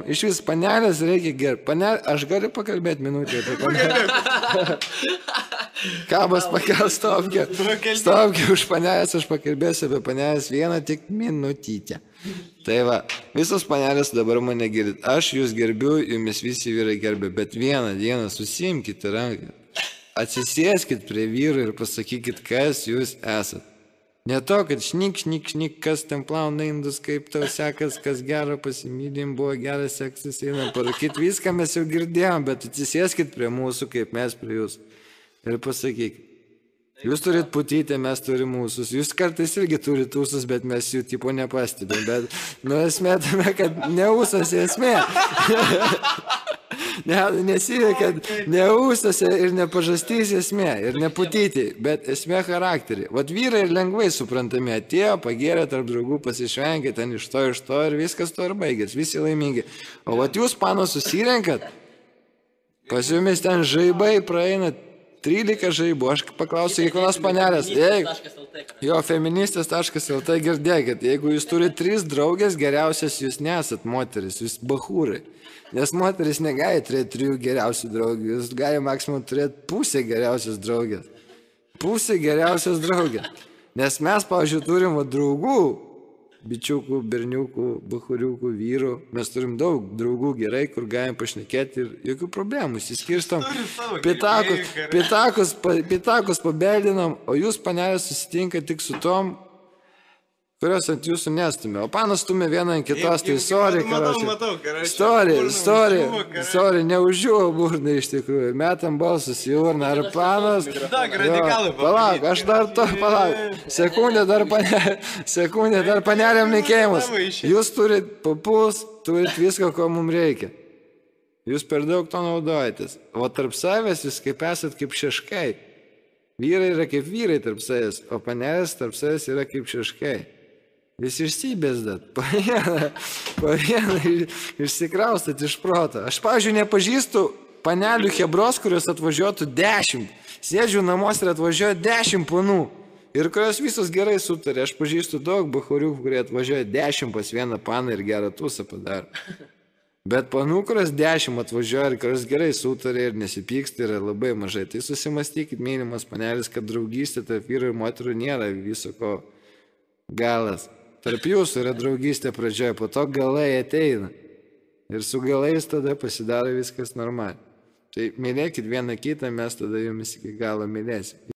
Iš vis panelės reikia gerbti. Aš galiu pakalbėti minutę apie panelę. Kabas pakel stopkė. Stopkė už panelės, aš pakalbėsiu apie panelės vieną tik minutytę. Tai va, visos panelės dabar mane girdit. Aš jūs gerbiu, jumis visi vyrai gerbė, bet vieną dieną susimkite ranką. Atsisėskit prie vyrų ir pasakykit, kas jūs esat. Ne to, kad šnik, kas ten plauna indus, kaip tau sekas, kas gero pasimylim, buvo geras seksas, einam parūkit. Viską mes jau girdėjom, bet atsisėskit prie mūsų, kaip mes prie jūsų. Ir pasakykit. Jūs turit putytę, mes turim mūsus. Jūs kartais irgi turit ūsus, bet mes jų tipo nepastebėm. Bet, esmė tame, kad ne ūsas esmė. Nesivė, kad ne ūsose ir ne pažastys esmė, ir ne putyti, bet esmė charakterį. Vat vyrai lengvai suprantami, atėjo, pagėrė tarp draugų, pasišvengė, ten iš to ir viskas to ir baigės, visi laimingi. O vat jūs, pano, susirenkat, pas jumis ten žaibai praeina 13 žaibų, aš paklausiu kiekvienos panelės. Jo, feministės.lt girdėkit, jeigu jūs turite 3 draugės, geriausias jūs nesat moteris, jūs bahūrai. Nes moteris negali turėti 3 geriausių draugų, jūs gali maksimum turėti pusę geriausios draugės. Pusę geriausios draugės. Nes mes, pavyzdžiui, turim draugų, bičiukų, berniukų, bahuriukų, vyrų. Mes turim daug draugų gerai, kur galim pašnekėti ir jokių problemų. Įsiskirstom, pitakus pabeldinam, o jūs, panelės, susitinka tik su tom, kurios ant jūsų nestumė. O panas stumė vieną ant kitos, tai sorry, neužžiūvo burną iš tikrųjų. Metam balsus į urną, ar panas... Palauk, aš dar to, sekundė dar panelėm nekėjimus. Jūs turit papus, turit viską, ko mums reikia. Jūs per daug to naudojatės. O tarp savęs jūs kaip esat kaip šeškai. Vyrai yra kaip vyrai tarp savęs, o panelės tarp savęs yra kaip šeškai. Jūs išsibėsdat, po vieną išsikraustat iš proto. Aš, pavyzdžiui, nepažįstu panelių hebros, kurios atvažiuotų 10. Sėdžiu namuose ir atvažiuoja 10 panų. Ir kurios visos gerai sutarė. Aš pažįstu daug bahuriukų, kurie atvažiuoja 10 pas vieną paną ir gerą tūsą padaro. Bet panų, kurios 10 atvažiuoja ir kurios gerai sutarė ir nesipyksta, yra labai mažai. Tai susimastykit, mylimas panelis, kad draugystė tarp vyrų ir moterų nėra viso ko galas. Tarp jūsų yra draugystė pradžioje, po to galai ateina. Ir su galais tada pasidaro viskas normaliai. Tai mylėkit vieną kitą, mes tada jumis iki galo mylėsim.